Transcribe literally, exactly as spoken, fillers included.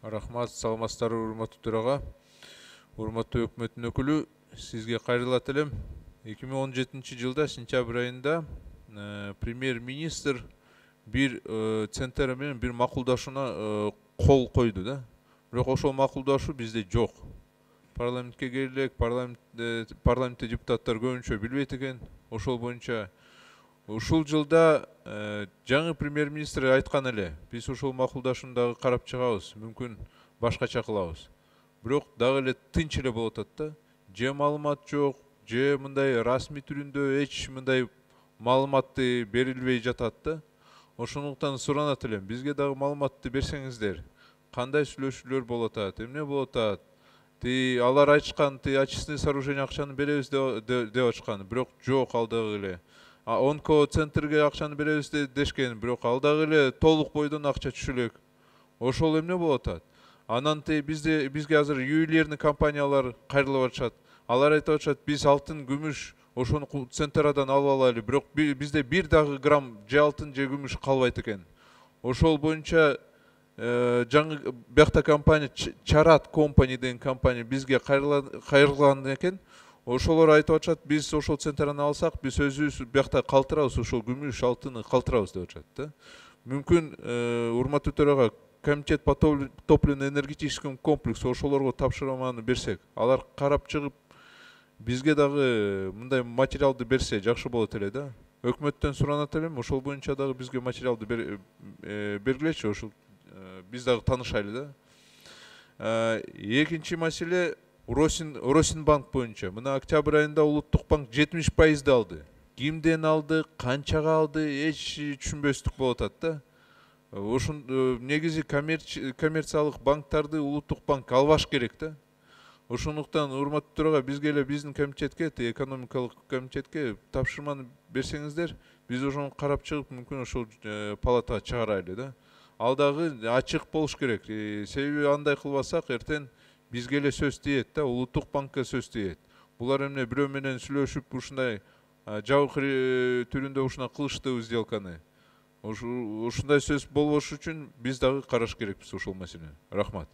Рахмат, саламатсыздарбы, урматтуу төрага. Урматтуу өкмөттүн өкүлү, сизге кайрылат элем. эки миң он жетинчи жылда сентябрь айында премьер-министр бир центр менен бир макулдашууна кол койду да. Бирок ошол макулдашуу бизде жок. Парламентке келек, парламентте депутаттар көбүнчө билбейт экен. Ошол боюнча ушул жылда жаңы премьер-министр айткан эле, биз ушул макулдашууну дагы карап чыгабыз, мүмкүн башкача кылабыз. Бирок дагы эле тынч эле болуп атат да. Же маалымат жок, же мындай расмий түрүндө эч мындай маалыматты берилбей жатат да. Ошондуктан суранат элем, бизге дагы маалыматты берсеңиздер. Кандай сүйлөшүүлөр болуп атат, эмне болуп атат? Ти алар айтышкан, ти очистный сооружение акчаны беребиз деп атышкан, бирок жок, ал дагы эле. Онко центрге акчаны беребиз дешкен, бирок ал дагы эле толук бойдон акча түшө элек. Ошол эмне болуп атат? Анан ти бизде бизге азыр ювелирный компаниялар кайрылып атышат. Алар айтып атышат, биз алтын, күмүш ошону центрдан алып алайлы, бирок бизде бир дагы грамм же алтын же күмүш калбайт экен. Ошол боюнча жаңы биякта компания Чарат Company деген компания бизге кайрылган экен. Ошолор айтып атышат, биз ошол центрдан алсак, биз өзүбүз биякта калтырабыз, ошол күмүш, алтынды калтырабыз деп атышат да. Мүмкүн урматтуу төрага комитет по топливно-энергетическому комплексу ошолорго тапшырманы берсек, алар карап чыгып, бизге дагы мындай материалды берсе жакшы болот эле да. Өкмөттөн суранат элем, ошол боюнча дагы бизге материалды бергилечи, ошол биз дагы таанышайлы да. Экинчи маселе Росинбанк боюнча. Мына октябрь айында Улуттук банк жетимиш пайызды алды. Кимден алды, канчага алды, эч түшүнбөстүк болуп атат да. Ошон негизи коммерциялык банктарды Улуттук банк албаш керек да. Ошондуктан урматтуу төрага бизге эле биздин комитетке, экономикалык комитетке тапшырманы берсеңиздер, биз ошону карап чыгып, мүмкүн ошол палатага чыгарайлы да. Ал дагы ачык болуш керек. Себеби андай кылбасак, эртең бизге эле сөз тиет да, Улуттук банкка сөз тиет. Булар эмне бирөө менен сүйлөшүп, ушундай жабык түрүндө ушуна кылыштыбы сделканы. Ушундай сөз болбош үчүн биз дагы караш керекпиз ошол маселени. Рахмат.